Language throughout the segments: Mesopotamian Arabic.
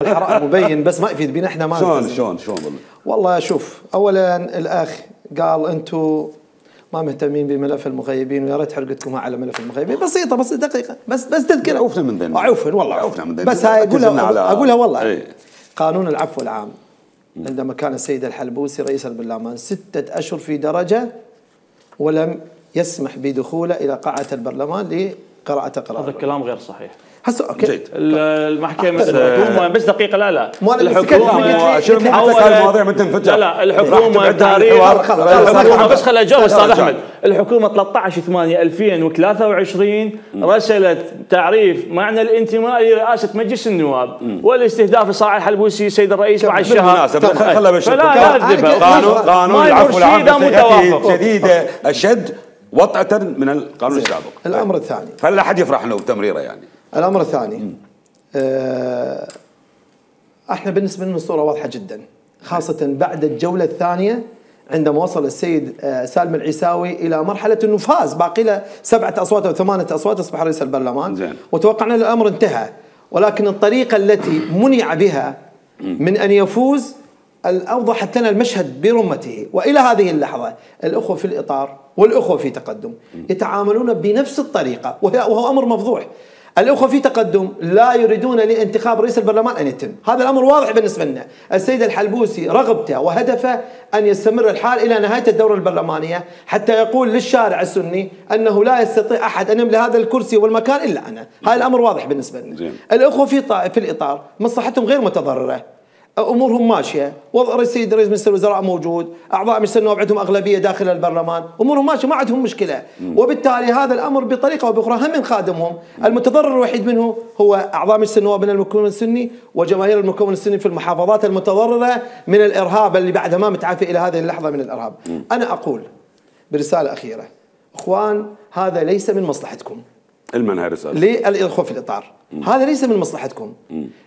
بالحرائق مبين بس ما يفيد بينا احنا ما شلون والله شوف، اولا الاخ قال انتم ما مهتمين بملف المغيبين ويا ريت حرقتكم على ملف المغيبين. بسيطه بس دقيقه بس تذكر. عوفنا من ذنب. والله عوفنا من ذنب. بس هاي اقولها والله. ايه. قانون العفو العام عندما كان السيد الحلبوسي رئيس البرلمان 6 أشهر في درجه ولم يسمح بدخوله الى قاعه البرلمان لقراءه قرار. هذا الكلام غير صحيح. هسه اوكي جيد. الحكومه بس دقيقه لا الحكومه شنو المواضيع ما تنفتح. لا الحكومه الحكومه بس خليني اجاوب استاذ احمد. الحكومه 13/8/2023 رسلت تعريف معنى الانتماء لرئاسه مجلس النواب والاستهداف لصالح الحلبوسي سيد الرئيس مع الشهاده. خلها بشر. قانون العفو العام جديده اشد وطأة من القانون السابق. الامر الثاني فلا حد يفرح له بتمريره يعني. الامر الثاني احنا بالنسبه لنا الصوره واضحه جدا، خاصه بعد الجوله الثانيه عندما وصل السيد سالم العيساوي الى مرحله انه فاز، باقي له 7 أصوات او 8 أصوات اصبح رئيس البرلمان. زين. وتوقعنا الامر انتهى، ولكن الطريقه التي منع بها من ان يفوز اوضحت لنا المشهد برمته. والى هذه اللحظه الاخوه في الاطار والاخوه في تقدم يتعاملون بنفس الطريقه، وهو امر مفضوح. الاخوه في تقدم لا يريدون لانتخاب رئيس البرلمان ان يتم، هذا الامر واضح بالنسبه لنا. السيد الحلبوسي رغبته وهدفه ان يستمر الحال الى نهايه الدوره البرلمانيه حتى يقول للشارع السني انه لا يستطيع احد ان يملك هذا الكرسي والمكان الا انا، هذا الامر واضح بالنسبه لنا. الاخوه في الاطار مصلحتهم غير متضرره، امورهم ماشيه، وضع السيد رئيس مجلس الوزراء موجود، اعضاء مجلس النواب عندهم اغلبيه داخل البرلمان، امورهم ماشيه ما عندهم مشكله، وبالتالي هذا الامر بطريقه او باخرى هم من خادمهم، المتضرر الوحيد منه هو اعضاء مجلس النواب من المكون السني وجماهير المكون السني في المحافظات المتضرره من الارهاب اللي بعدها ما متعافي الى هذه اللحظه من الارهاب. انا اقول برساله اخيره، اخوان هذا ليس من مصلحتكم. المنهى رساله للاخوه في الاطار، هذا ليس من مصلحتكم،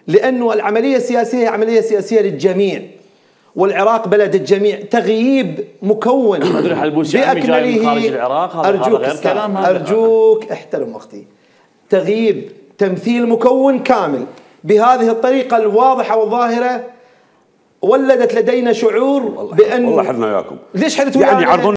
لانه العمليه السياسيه هي عمليه سياسيه للجميع، والعراق بلد الجميع. تغييب مكون باكمله خارج العراق ارجوك احترم وقتي. تغييب تمثيل مكون كامل بهذه الطريقه الواضحه والظاهره ولدت لدينا شعور بان والله حدنا وياكم. ليش حدتوا يعني